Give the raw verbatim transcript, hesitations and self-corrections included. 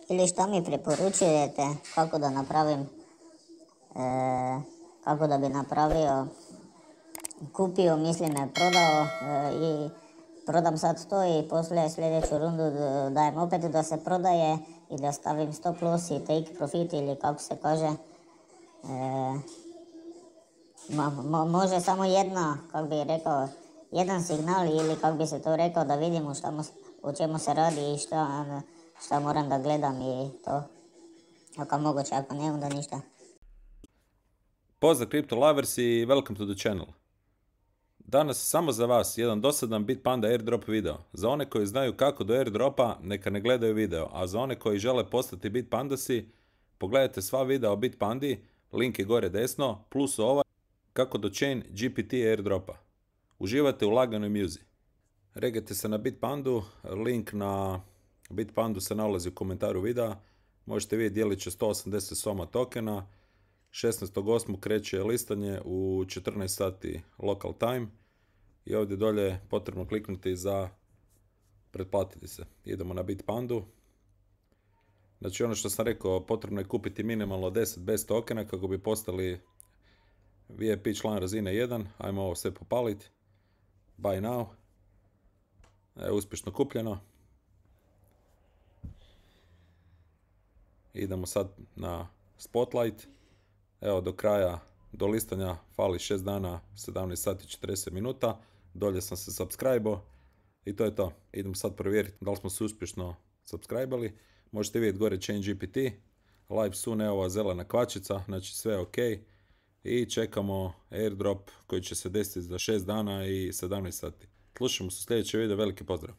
ili šta mi preporučujete kako da napravim, e, kako da bi napravio, kupio, mislim ne prodao e, i prodam sad to i poslije sljedeću rundu dajem opet da se prodaje i da stavim stop loss i take profit ili kako se kaže. E, mo, mo, može samo jedna, kako bi rekao, jedan signal ili kako bi se to rekao da vidimo šta mo, o čemu se radi i šta, šta moram da gledam i to. Ako moguće, ako ne, onda ništa. Pozdrav Crypto Lovers i welcome to the channel. Danas samo za vas jedan dosadan Bitpanda airdrop video. Za one koji znaju kako do airdropa, neka ne gledaju video, a za one koji žele postati Bitpandasi, pogledajte sva videa o Bitpandi, link je gore desno, plus ovaj, kako do Chain G P T airdropa. Uživate u laganoj muzi. Regajte se na Bitpandu, link na Bitpandu se nalazi u komentaru videa. Možete vidjeti dijelit će sto osamdeset soma tokena. šesnaestog osmog kreće listanje u četrnaest sati local time i ovdje dolje je potrebno kliknuti za pretplatiti se. Idemo na Bitpandu. Znači ono što sam rekao, potrebno je kupiti minimalno deset bez tokena kako bi postali V I P član razine jedan. Ajmo ovo sve popaliti. Buy now. Evo, uspješno kupljeno. Idemo sad na Spotlight. Evo, do kraja, do listanja fali šest dana, sedamnaest sati i četrdeset minuta. Dolje sam se subscribe-o i to je to. Idemo sad provjeriti da li smo se uspješno subscribe-ali. Možete vidjeti gore Chain G P T. Live soon, evo ova zelena kvačica, znači sve je ok. I čekamo airdrop koji će se desiti za šest dana i sedamnaest sati. Slušamo se u sljedeće video, veliki pozdrav.